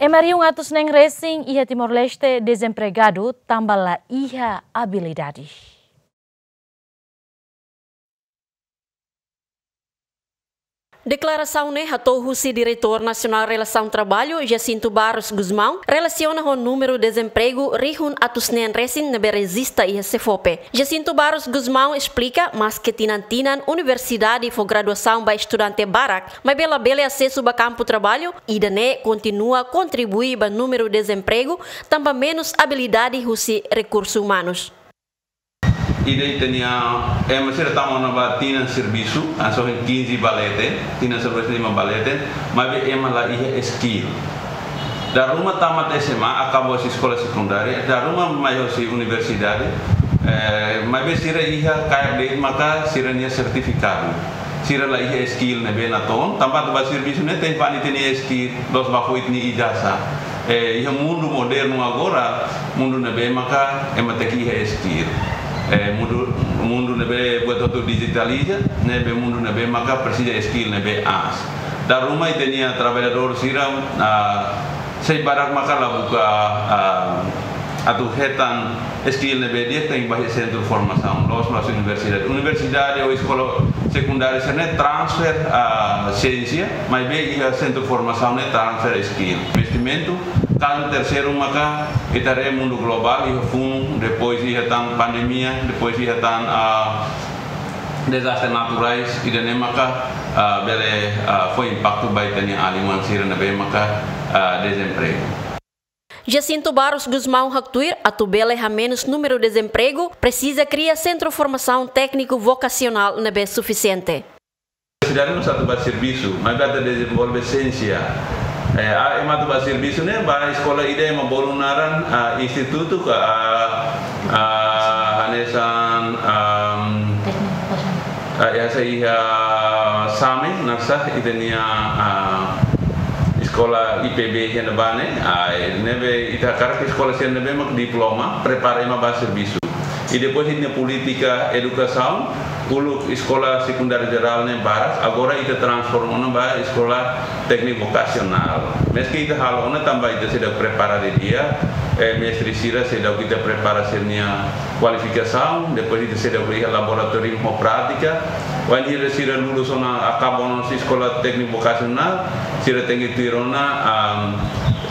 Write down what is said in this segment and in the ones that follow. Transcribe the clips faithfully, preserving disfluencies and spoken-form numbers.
Ema rihun atus neen resin iha Timor-Leste dezempregadu tanba la iha abilidade. Deklarasaun ne'e hato'o husi Diretór Nasionál Relasaun Traballu, Jacinto Barros Gusmão, relasiona ho númeru dezempregu rihun atus neen resin ne'ebé rejista iha SEFOPE. Jacinto Barros Gusmão esplika, maske tinan-tinan universidade fó graduasaun ba estudante barak, maibé labele asesu ba kampu traballu, ida-ne'e kontinua kontribui ba númeru dezempregu, tanba menus abilidade husi rekursu umanus. Ida ita-nia ema sira tama ona ba tinan servisu, hanesan quinze ba leten, tinan servisu lima ba leten, maibé ema la iha skill. Dala ruma tamat S M A, akaba husi eskola sekundária, dala ruma mai husi universidade, eh, maibé sira iha kaer de'it maka sira-nia sertifikadu. Sira la iha skill ne'ebé natoon, tanba atu ba servisu ne'e tenke fó ita-nia skill, la'ós ba fó ita-nia ijazah. Eh, iha mundu modernu agora, mundu ne'ebé maka ema tenke iha skill. Eh, mundu, mundu ne'ebé buat hotu dijitaliza, ne'ebé mundu ne'ebé maka presiza skill ne'ebé aas. Dala ruma ita-nia traballadór sira, ah, sei barak maka la buka, ah, atu hetan skill ne'ebé di'ak tenke ba iha sentru formasaun, la'ós mai husi universidade. Universidade ou eskola sekundária sira-ne'e transfer, ah, siénsia, maibé iha sentru formasaun ne'e transfer skill. Investimentu, kazu terseiru maka ita haree mundu globál, iha funu, depois iha tan pandemia, depois iha tan, ah, dezastre naturais, ida-ne'e maka, ah, bele, ah, fó impaktu ba ita-nia alin-oan sira ne'ebé maka, ah, dezempregu. Jacinto Barros Gusmão haktuir, atu bele hamenus númeru dezempregu, presiza kria sentru formasaun tékniku vokasionál ne'ebé sufisiente. Universidade mós atu ba servisu, maibé atu dezenvolve siénsia. Eh, ah, ema atu ba servisu ne'e, ba eskola ida ema bolu naran, ah, institutu ka, ah, ah, hanesan, ah, ah, iha, ah, SAME, naran sá, ita-nia, ah, eskola I P B iha ne'ebá ne'e, ah, ne'ebé ita hakarak eskola sira ne'ebé mak diploma, prepara ema ba servisu. I depois ita-nia polítika edukasaun, uluk eskola sekundária jerál ne'e barak, agora ita transforma ona ba eskola tékniku vokasionál. Maske ita halo ona tanba ita seidauk prepara didi'ak, eh, mestre sira seidauk ita prepara sira-nia kualifikasaun, depois ita seidauk iha laboratóriu ho prátika. Wainhira sira lulus ona, akaba ona husi eskola tékniku vokasionál, sira tenke tuir ona, am,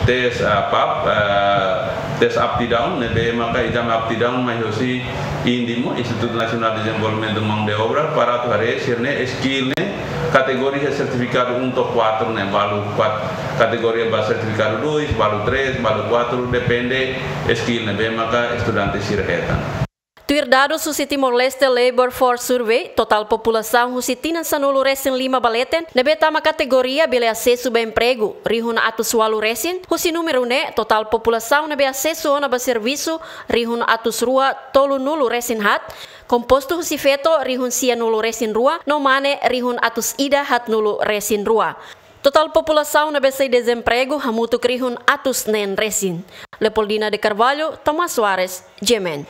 tes, ah, pap, ah, tes aptidaun, ne'ebé maka ezame aptidaun mai husi INDMO, Instituto Nacional de Desenvolvimento Mão de Obra, para atu haree sira-nia skill ne'e kategoria sertifikadu um to'o quatro ne'e, balu kuat, kategoria ba sertifikadu dois, balu três, balu quatro, depende skill ne'ebé maka estudante sira hetan. Tuir dadus husi Timor-Leste Labor Force Survey, totál populasaun husi tinan sanulu resin lima ba leten ne'ebé tama kategoria bele asesu ba empregu, rihun atus ualu resin. Husi númeru ne'e, totál populasaun ne'ebé asesu ona ba servisu, rihun atus rua tolunulu resin haat, kompostu husi feto, rihun sianulu resin rua, no mane, rihun atus ida haatnulu resin rua. Totál populasaun ne'ebé sai dezempregu hamutuk rihun atus neen resin. Leopoldina de Carvalho, Tomás Soares, G M N.